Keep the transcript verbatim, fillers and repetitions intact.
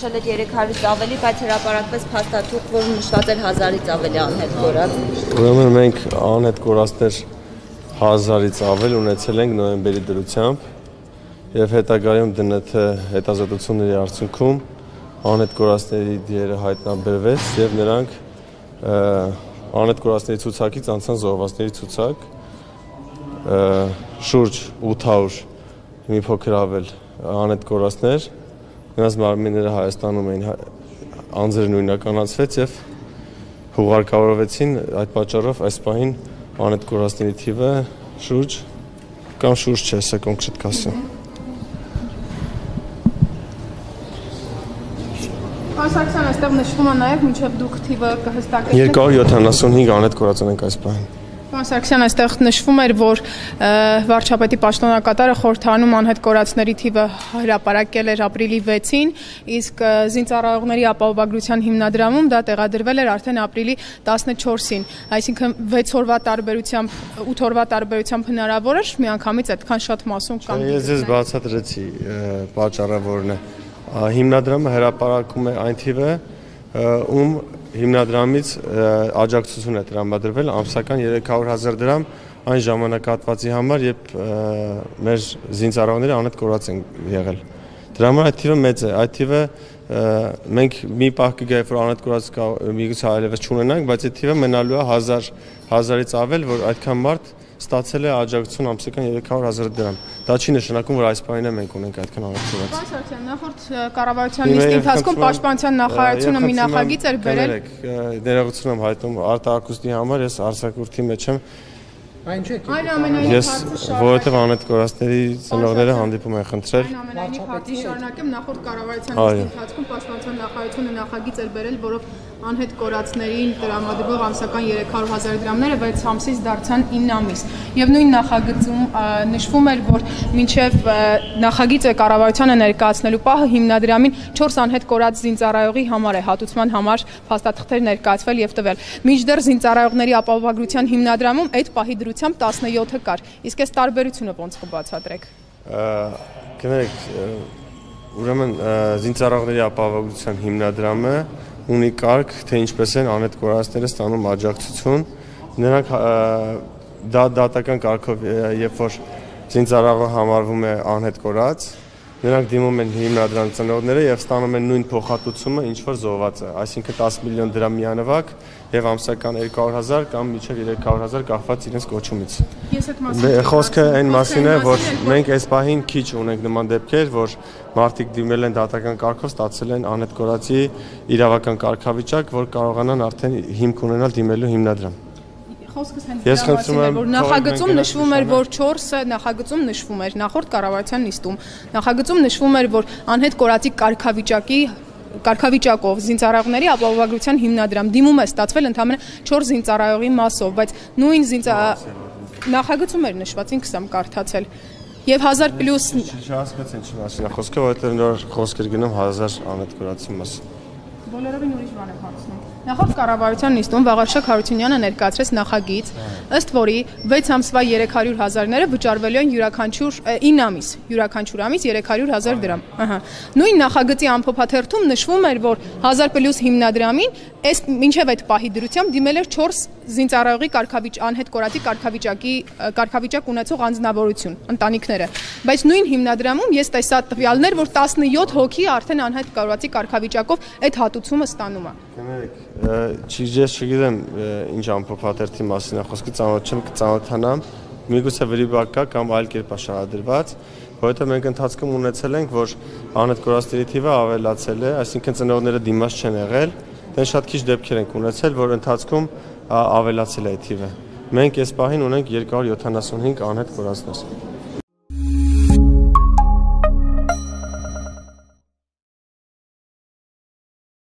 նշել եք երեք հարյուրից ավելի, բայց հրապարակվեց փաստաթուղթ, որ նշված էր հազարից ավելի անհետ կորած։ Ուրեմն մենք անհետ կորածներ հազարից ավել ունեցել ենք նոյեմբերի դրությամբ եւ հետագայում ԴՆԹ հետազոտությունների արդյունքում անհետ կորածների դերը հայտնաբերվեց եւ նրանք անհետ կորածների ցուցակից անցան զոհվածների ցուցակ շուրջ ութ հարյուր մի փոքր ավել անհետ կորածներ, նրանց մարմինները Հայաստանում էին անձերը նույնականացվեց եւ հուղարկավորվեցին, այդ պատճառով այս պահին անհետ կորածների թիվը շուրջ կամ շուրջ չէ, սա կոնկրետ կասեմ։ Պարսակցյան, այստեղ նշվում է նաև մինչև դուք թիվը կհստակեցնեք երկու հարյուր յոթանասունհինգ անհետ կորած ունենք այս պահին։ Պարսակցյան, այստեղ նշվում էր, որ վարչապետի պաշտոնակատարը խորհրդանում անհետ կորածների թիվը հրապարակել էր ապրիլի վեցին, իսկ զինծառայողների ապահովագրության հիմնադրամում դա տեղադրվել էր արդեն ապրիլի տասնչորսին, այսինքն վեց օրվա տարբերությամբ, ութ օրվա տարբերությամբ հնարավոր էր միանգամից այդքան շատ մասում կամ։ Ես ձեզ բացատրեցի պատճառը որն է։ Հիմնադրամը հրապարակում է այն թիվը, ում հիմնադրամից աջակցություն է տրամադրվել ամսական երեք հարյուր հազար դրամ այն ժամանակահատվածի համար, երբ մեր զինծառայողները անհետ կորած են եղել։ Դրա համար այդ թիվը մեծ է, այդ թիվը մենք մի պահ կգա, որ անհետ կորած միգուցե այլևս չունենանք, բայց այդ թիվը մնալու է հազար հազարից ավել, որ այդքան մարդ ստացել է աջակցություն ամսական երեք հարյուր հազար դրամ։ Դա չի նշանակում, որ այս պահին մենք ունենք այդքան անհետ կորած։ Պարսակցյան, նախորդ կառավարության նիստի ընթացքում պաշտպանության նախարարությունը մի նախագիծ էր բերել։ Ներողություն եմ հայտնում արտահայտության համար, ես արձակուրդի մեջ եմ։ Այն չէ։ Այնուամենայնիվ որովհետև անհետ կորածների ծնողները հանդիպում են խնդրել։ Այնուամենայնիվ հատի շարունակեմ նախորդ կառավարության նիստի ընթացքում պաշտպանության նախարարությունը նախագիծ էր բերել, որով անհետ կորածներին տրամադրվող ամսական երեք հարյուր հազար դրամները վեց ամսից դարձան ինը ամիս։ Եվ նույն նախագծում նշվում էր, որ մինչև նախագիծը կառավարությանը ներկայացնելու պահը հիմնադրամին չորս անհետ կորած զինծառայողի համար է հատուցման համար փաստաթղթեր ներկայացվել եւ տվել։ Մինչդեռ զինծառայողների ապահովագրության հիմնադրամում այդ պահի դրությամբ տասնյոթը կար։ Իսկ այս տարբերությունը ոնց կբացատրեք։ Գնացեք, ուրեմն զինծառայողների ապահովագրության հիմնադրամը ունի կարգ, թե ինչպես են անհետ կորածները ստանում աջակցություն։ Նրանք դա դատական կարգով, երբ որ զինծառայողը համարվում է անհետ կորած, նրանք դիմում են հիմնադրամ ծնողները եւ ստանում են նույն փոխհատուցումը, ինչ որ զոհված է, այսինքն տասը միլիոն դրամ միանվագ եւ ամսական երկու հարյուր հազար կամ մինչեւ երեք հարյուր հազար կախված իրենց կոչումից։ Խոսքը այն մասին է, որ մենք այս պահին քիչ ունենք նման դեպքեր, որ մարդիկ դիմել են դատական կարգով, ստացել են անհետ կորածի իրավական կարգավիճակ, որ կարողանան արդեն հիմք ունենալ դիմելու հիմնադրամ։ Խոսքս հենց դրա մասին էր, որ նախագծում նշվում էր, որ չորսը նախագծում նշվում էր նախորդ կառավարության նիստում։ Նախագծում նշվում էր, որ անհետ կորածի կարգավիճակի կարգավիճակով զինծառայողների ապահովագրության հիմնադրամ դիմում է ստացվել ընդամենը չորս զինծառայողի մասով, բայց նույն զինծա նախագծում էր նշված, ինքս եմ կարդացել։ Եվ հազար պլյուս Չհասկացին չի մասին է խոսքը, որովհետև նոր խոսքեր գնում հազար անհետ կորածի մասին։ Բոլորովին ուրիշ բան եմ հարցնում։ Նախորդ կառավարության նիստում Վաղարշակ Հարությունյանը ներկայացրեց նախագիծ, ըստ որի վեց ամսվա երեք հարյուր հազարները վճարվելու են յուրաքանչյուր ինը ամիս, յուրաքանչյուր ամիս երեք հարյուր հազար դրամ։ Ահա։ Նույն նախագծի ամփոփաթերթում նշվում էր, որ հազար պլյուս հիմնադրամին այս մինչև այդ պահի դրությամբ դիմել էր չորս զինծառայողի կարգավիճ անհետ կորածի կարգավիճակի կարգավիճակ ունեցող անձնավորություն, ընտանիքները։ Բայց նույն հիմնադրամում ես տեսա տվյալներ, որ տասնյոթ հոգի արդեն անհետ կորածի կարգավիճակով այդ հատուցումը ստանում է։ Չի ես չգիտեմ ինչ ամփոփաթերթի մասին է խոսքը, ծանոթ չեմ, կծանոթանամ, միգուցե վրիպակ կա կամ այլ կերպ շարադրված, որովհետև մենք ընթացքում ունեցել ենք, որ անհետ կորածների թիվը ավելացել է, այսինքն ծնողները դիմաց չեն եղել, դեն շատ քիչ դեպքեր ենք ունեցել, որ ընթացքում ավելացել է այդ թիվը։ Մենք այս պահին ունենք երկու հարյուր յոթանասունհինգ անհետ կորածներ։